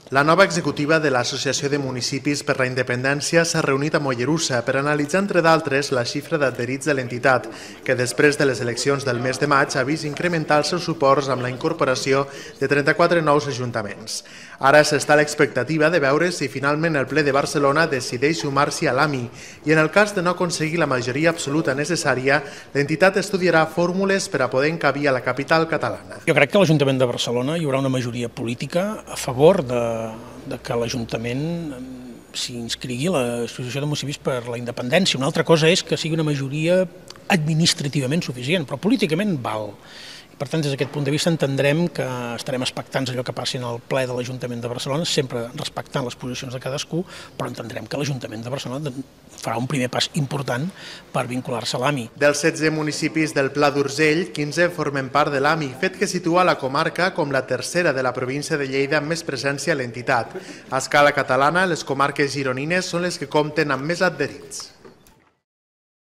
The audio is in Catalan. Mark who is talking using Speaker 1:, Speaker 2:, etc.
Speaker 1: La nova executiva de l'Associació de Municipis per la Independència s'ha reunit a Mollerussa per analitzar, entre d'altres, la xifra d'adherits de l'entitat, que després de les eleccions del mes de maig ha vist incrementar els seus suports amb la incorporació de 34 nous ajuntaments. Ara s'està a l'expectativa de veure si finalment el ple de Barcelona decideix sumar-s'hi a l'AMI i en el cas de no aconseguir la majoria absoluta necessària, l'entitat estudiarà fórmules per a poder encabir a la capital catalana.
Speaker 2: Jo crec que a l'Ajuntament de Barcelona hi haurà una majoria política a favor de que l'Ajuntament s'hi inscrigui a l'Associació de Municipis per la Independència. Una altra cosa és que sigui una majoria administrativament suficient, però políticament val. Per tant, des d'aquest punt de vista entendrem que estarem expectants allò que passi en el ple de l'Ajuntament de Barcelona, sempre respectant les posicions de cadascú, però entendrem que l'Ajuntament de Barcelona farà un primer pas important per vincular-se a l'AMI.
Speaker 1: Dels 16 municipis del Pla d'Urgell, 15 formen part de l'AMI, fet que situa la comarca com la tercera de la província de Lleida amb més presència a l'entitat. A escala catalana, les comarques gironines són les que compten amb més adherits.